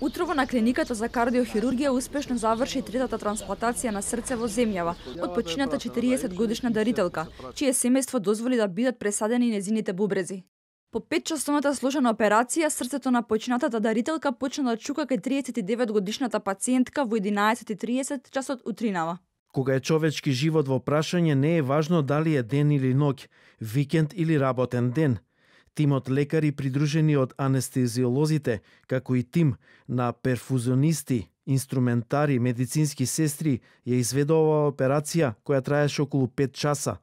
Утрово на клиниката за кардиохирургија успешно заврши третата трансплантација на срце во земјава од почината 40-годишна дарителка, чие семејство дозволи да бидат пресадени незините бубрези. По 5-часовната сложена операција, срцето на починатата дарителка почна да чука кај 39-годишната пациентка во 11:30 часот утринава. Кога е човечки живот во прашање, не е важно дали е ден или ноќ, викенд или работен ден. Тимот лекари придружени од анестезиолозите, како и тим на перфузионисти, инструментари, медицински сестри, ја изведува оваа операција која траеше околу 5 часа.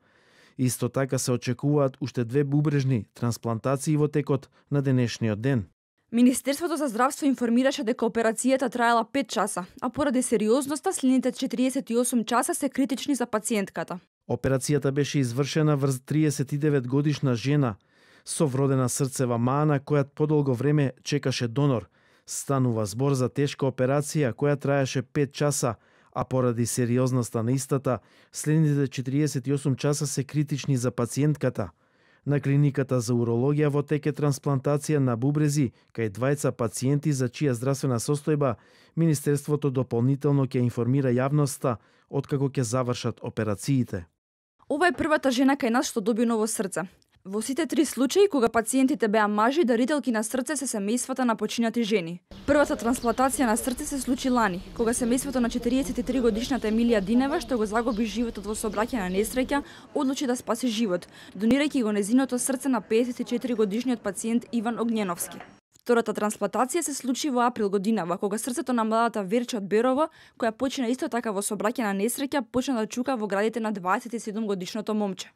Исто така се очекуваат уште 2 бубрежни трансплантации во текот на денешниот ден. Министерството за здравство информираше дека операцијата траела 5 часа, а поради сериозноста следните 48 часа се критични за пациентката. Операцијата беше извршена врз 39-годишна жена со вродена срцева мана која подолго време чекаше донор. Станува збор за тешка операција која траеше 5 часа, а поради сериозноста на истата, следните 48 часа се критични за пациентката. На клиниката за урологија во тек е трансплантација на бубрези кај 2 пациенти за чија здравствена состојба Министерството дополнително ќе информира јавноста откако ќе завршат операциите. Ова е првата жена кај нас што доби ново срце. Во сите 3 случаи, кога пациентите беа мажи, дарителки на срце се семејствата на починати жени. Првата трансплантација на срце се случи лани, кога семејството на 43-годишната Емилија Динева, што го загуби животот во сообраќајна несреќа, одлучи да спаси живот, донирајќи го незиното срце на 54-годишниот пациент Иван Огњеновски. Втората трансплантација се случи во април годинава, кога срцето на младата Верче од Берово, која почина исто така во сообраќајна несреќа, почна да чука во градите на 27-годишното момче.